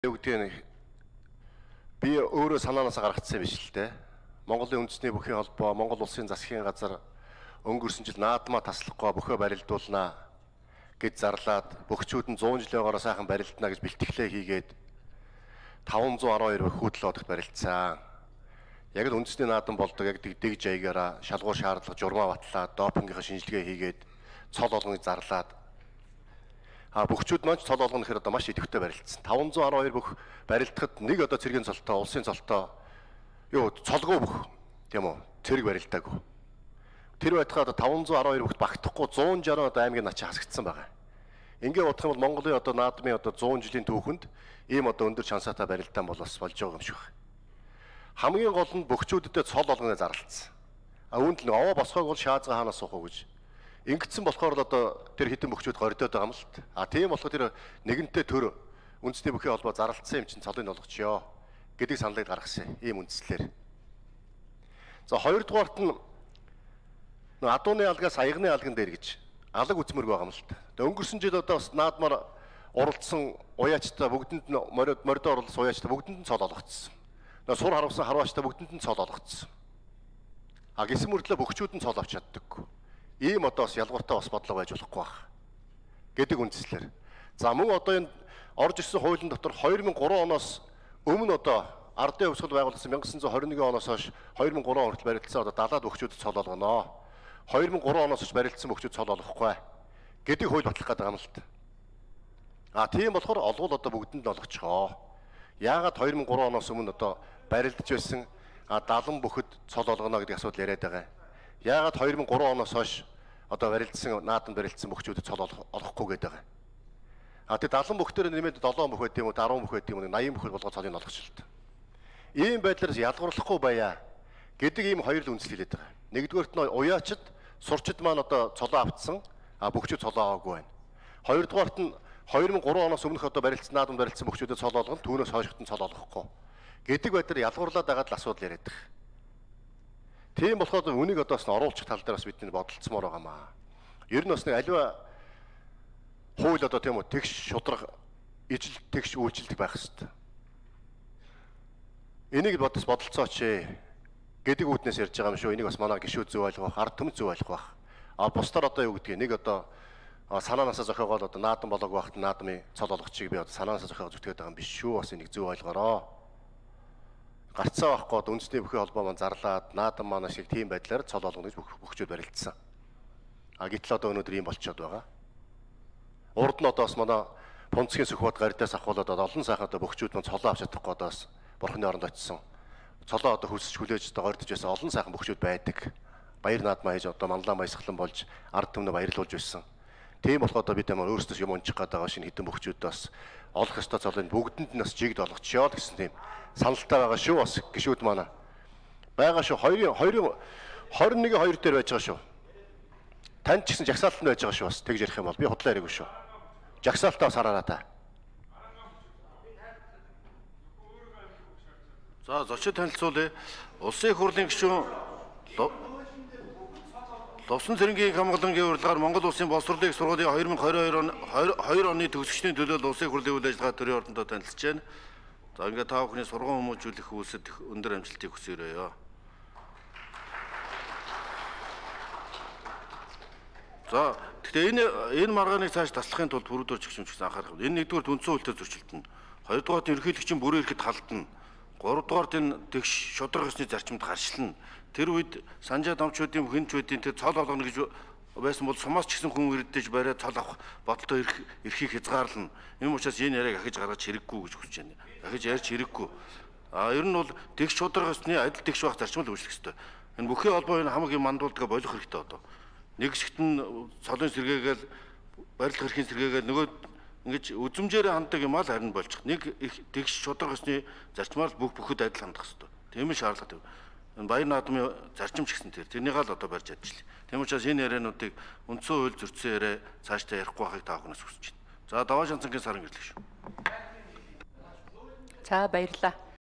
Үгдийн би өөрөө санаанаасаа гаргацсан биш л дээ. Монголын үндэсний бүхий холбоо, Монгол улсын засгийн газар өнгөрсөн жил наадмаа таслахгүй бөхөө барилдуулнаа гэж зарлаад бөхчүүд нь 100 жилийн гараа сайхан барилдана гэж бэлтгэлээ хийгээд 512 хүүтэл одогт барилдсан. Яг л үндэсний наадам болдог яг дэг жаягаараа шалгуур шаардлага журмаа батлаад допингийнхаа шинжилгээ хийгээд цол олгоныг зарлаад бөхчүүд маань цол олгоно гэхээр одоо маш идэвхтэй барилдсан. 512 бүх барилдахад нэг одоо цэргийн цолтой, улсын цолтой цолгоо бүх тийм үү цэрэг барилдаагүй. Тэр байтугай одоо 512 бүгд багтахгүй 160 одоо аймгийн начаа хасагдсан байгаа. Ингээ бодох юм бол Монголын одоо наадмын одоо 100 жилийн түүхэнд ийм одоо өндөр шансаатай барилдаан болж байгаа юм шиг байна. Хамгийн гол нь бөхчүүдэд цол олгоно зарлалцсан. Үүнд л овоо босгоог бол шаазга хаанаас суух уу гэж. Ингэсэн болохоор л одоо тэр хитэн бөхчүүд гордоод байгаа юм л та. Тийм болохоор тэр нэгэнтээ төр үндэсний бүхий холбоо зарлалцсан юм чинь цолыг олгочихё гэдэг саналыг гаргасан ийм үндслээр. За хоёрдугаарт нь адууны алгаас аягны алган дээр гэж алаг үзмэрг байгаа юм л та. Өнгөрсөн жил одоо бас наадмаар оролцсон уяачтай бүгдэнд нь моридо оролцсон уяачтай бүгдэнд нь цол олгоцсон. Сур харавсан харваачтай бүгдэнд нь цол олгоцсон. Гэсэн мөрдлөө бөхчүүд нь цол авч чаддаггүй. Ийм одоо бас ялгууртай бас бодлого байж болохгүй байх гэдэг үндслээр. За мөн одоо энэ орж ирсэн хуулийн дотор 2003 оноос өмнө одоо ардын хувьсгал байгуулсан 1921 оноос хойш 2003 он хүртэл барилдсан одоо далаад бөхчүүд цол олгоно. 2003 оноос хойш барилдсан бөхчүүд цол олгохгүй гэдэг хууль батлах гэдэг юм л та. Тийм болохоор олгол одоо бүгдэнд нь олгочихоо. Яагаад 2003 оноос өмнө одоо барилдж байсан 70 бүхэд цол олгоно гэдэг асуудал яриад байгаа. Яагаад 2003 оноос хойш одоо барилдсан наадам барилдсан бөхчүүдэд цол олохгүй гэдэг байгаа. Тэгээ 70 бүхтээр нэмээд 7 бүх байт юм уу 10 бүх байт юм уу 80 бүхэл болгоод цолыг олгочихлоо. Ийм байдлаар ялгуурлахгүй байя гэдэг ийм хоёр л үндсэл хэлээд байгаа. Нэгдүгээрт нь уяачид сурчид маань одоо цолоо автсан бөхчүүд цолоо аваагүй байна. Хоёрдугаарт нь 2003 оноос өмнөх одоо барилдсан наадам барилдсан бөхчүүдэд цол олгоно түүнээс хойшгт нь цол олгохгүй гэдэг байдлаар ялгуурлаад байгаад л асуудал яриад байгаа. Тийм болохоор үнийг одоо бас оруулах тал дээр бас бидний бодолцмоор байгаамаа. Ер нь бас нэг аливаа хууль одоо тийм үү тэгш шудраг ижил тэгш үйлчлдэг байх хэрэгтэй. Энийг бодолцооч гэдэг үүднээс ярьж байгаа юм шүү. Энийг бас манай гишүүд зөв ойлгох, ард түмэн зөв ойлгох байх. Бусдаар одоо юу гэдгийг нэг одоо санаанаасаа зохиогоод одоо наадам болоог байхад наадмын цол олгочихыг би одоо санаанаасаа зохиогоод зүтгээд байгаа юм биш шүү. Бас энийг зөв ойлгоорой. Гарцаа байхгүй одоо үндэсний бүхий холбоо маань зарлаад наадам маань шиг тийм байдлаар цол олгоно гэж бөхчүүд барилдсан. Гэтэл одоо өнөөдөр ийм болчиход байгаа. Урд нь одоо бас манай Пунцгийн Сүхбат гардаас ахуулаад олон сайхан одоо бөхчүүд маань цолоо авч чадахгүй одоо бас бурхны оронд очсон. Цолоо одоо хөлсөж хүлээж одоо гордож байсан олон сайхан бөхчүүд байдаг. Баяр наадмаа хийж одоо манлаа баясгалан болж ард түмнээ баярлуулж байсан. Тийм болохоор одоо бид ямар өөрсдөөс юм унчих гээд байгаа шинэ хитэн бөхчүүд бас олох ёстой цолыг бүгдэнд нь бас жигд олгочихё гэсэн тийм саналтай байгаа шүү бас гишүүд манай. Бага шүү 21-2 дээр байж байгаа шүү. Танд ч гэсэн жагсаалтанд байж байгаа шүү бас тэгж ярих юм бол би худлаа яриаггүй шүү. Жагсаалтаа бас хараараа та. За зочид танилцуулъя. Улсын их хурлын гишүүн Лувсан цэрэнгийн хамгааллын урилгаар Монгол улсын боловсролын их сургуулийн 2022 оны төгсгчдийн төлөө улсын их хурлын үйл ажиллагаа төрийн ордондоо танилцж байна. За ингээд та бүхний сургууль хүмүүжүүлэх үйлсэд өндөр амжилтыг хүсье. За тэгэхээр энэ маргааныг цааш таслахын тулд бүрдүүлж өгч юм гэсэн анхаарах. Энэ нэгдүгээр үндсэн хуулитай зөрчилдөн. Хоёрдугаарт ерөнхийлөгчийн бүрэн эрхэд халтна. Гуравдугаарт энэ тэгш шудраг ёсны зарчимд гарчлна. Тэр үед санжаа домчуудын хинчүүдийн тэр цол олгоно гэж байсан бол сумаас ч гэсэн хүн ирдэж бариад цол авах бодолтой эрхийг хязгаарлана. Ийм учраас энэ яриаг ахиж гаргаж хэрэггүй гэж хүсэж байна. Ахиж ярьж хэрэггүй. Ер нь бол тэгш шудраг ёсны адил тэгш байх зарчмыг үүсгэх ёстой. Энэ бүхий холбоо энэ хамаг юм мандуулдаг болох хэрэгтэй одоо. Нэг хэсэгт нь цолын сэргээгээл барилга хэрхийн сэргээгээл нөгөө ингэж үзмжээрээ ханддаг юм аа л харин болчих. Нэг тэгш шудраг ёсны зарчмаар бүхэд адил хандах хэрэгтэй. Тийм ээ шаардлагатай. Энэ баяр наадмын зарчим ч гэсэн тэрнийг л одоо барьж ажиллая. Тийм учраас энэ яриануудыг үндсэн хууль зөрчсөн яриа цаашдаа ярихгүй байхыг та бүхнээс хүсэж байна. За даваа шанцангийн сарын гэрлэх шүү. За баярлалаа.